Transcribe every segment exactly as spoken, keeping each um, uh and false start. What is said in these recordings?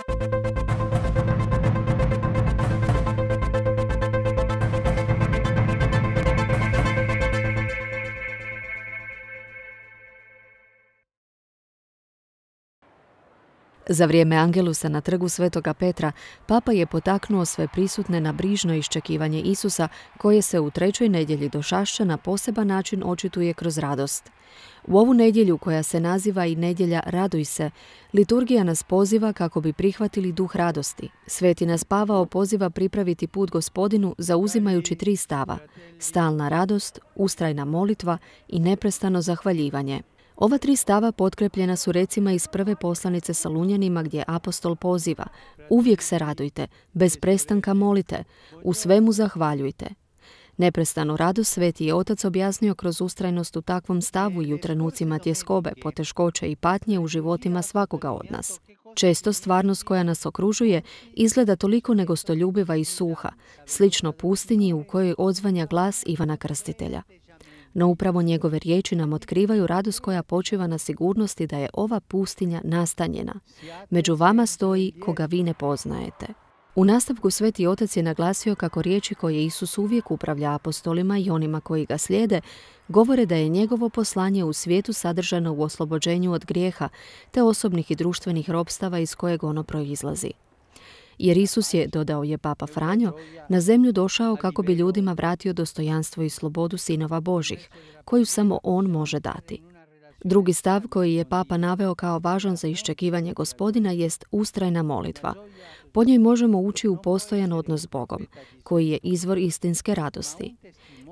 Za vrijeme Angelusa na trgu Svetoga Petra, papa je potaknuo sve prisutne na brižno iščekivanje Isusa, koje se u trećoj nedjelji Došašća na poseban način očituje kroz radost. U ovu nedjelju, koja se naziva i nedjelja Raduj se, liturgija nas poziva kako bi prihvatili duh radosti. Sveti nas Pavao poziva pripraviti put Gospodinu zauzimajući tri stava: stalna radost, ustrajna molitva i neprestano zahvaljivanje. Ova tri stava potkrepljena su recima iz prve poslanice Salunjanima, gdje apostol poziva: uvijek se radujte, bez prestanka molite, u svemu zahvaljujte. Neprestanu radost Sveti je Otac objasnio kroz ustrajnost u takvom stavu i u trenucima tjeskobe, poteškoće i patnje u životima svakoga od nas. Često stvarnost koja nas okružuje izgleda toliko negostoljubiva i suha, slično pustinji u kojoj odzvanja glas Ivana Krstitelja. No upravo njegove riječi nam otkrivaju radost koja počiva na sigurnosti da je ova pustinja nastanjena. Među vama stoji koga vi ne poznajete. U nastavku Sveti Otac je naglasio kako riječi koje Isus uvijek upravlja apostolima i onima koji ga slijede govore da je njegovo poslanje u svijetu sadržano u oslobođenju od grijeha te osobnih i društvenih ropstava iz kojeg ono proizlazi. Jer Isus je, dodao je Papa Franjo, na zemlju došao kako bi ljudima vratio dostojanstvo i slobodu sinova Božih, koju samo on može dati. Drugi stav koji je Papa naveo kao važan za iščekivanje Gospodina jest ustrajna molitva. Po njoj možemo ući u postojan odnos s Bogom, koji je izvor istinske radosti.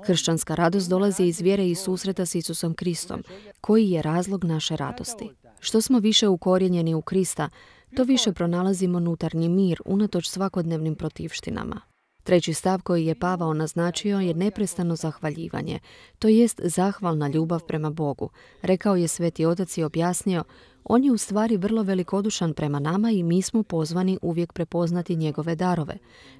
Kršćanska radost dolazi iz vjere i susreta s Isusom Kristom, koji je razlog naše radosti. Što smo više ukorijenjeni u Krista, to više pronalazimo unutarnji mir unatoč svakodnevnim protivštinama. Treći stav koji je Pavao naznačio je neprestano zahvaljivanje, to jest zahvalna ljubav prema Bogu. Rekao je Sveti Otac i objasnio: on je u stvari vrlo velikodušan prema nama i mi smo pozvani uvijek prepoznati njegove darove,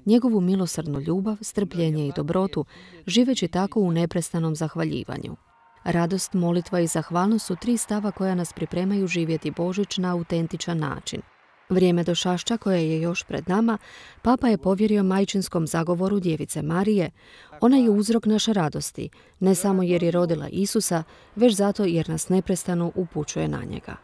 njegovu milosrdnu ljubav, strpljenje i dobrotu, živeći tako u neprestanom zahvaljivanju. Radost, molitva i zahvalnost su tri stava koja nas pripremaju živjeti Božić na autentičan način. Vrijeme Došašća, koje je još pred nama, Papa je povjerio majčinskom zagovoru Djevice Marije. Ona je uzrok naše radosti, ne samo jer je rodila Isusa, već zato jer nas neprestano upućuje na njega.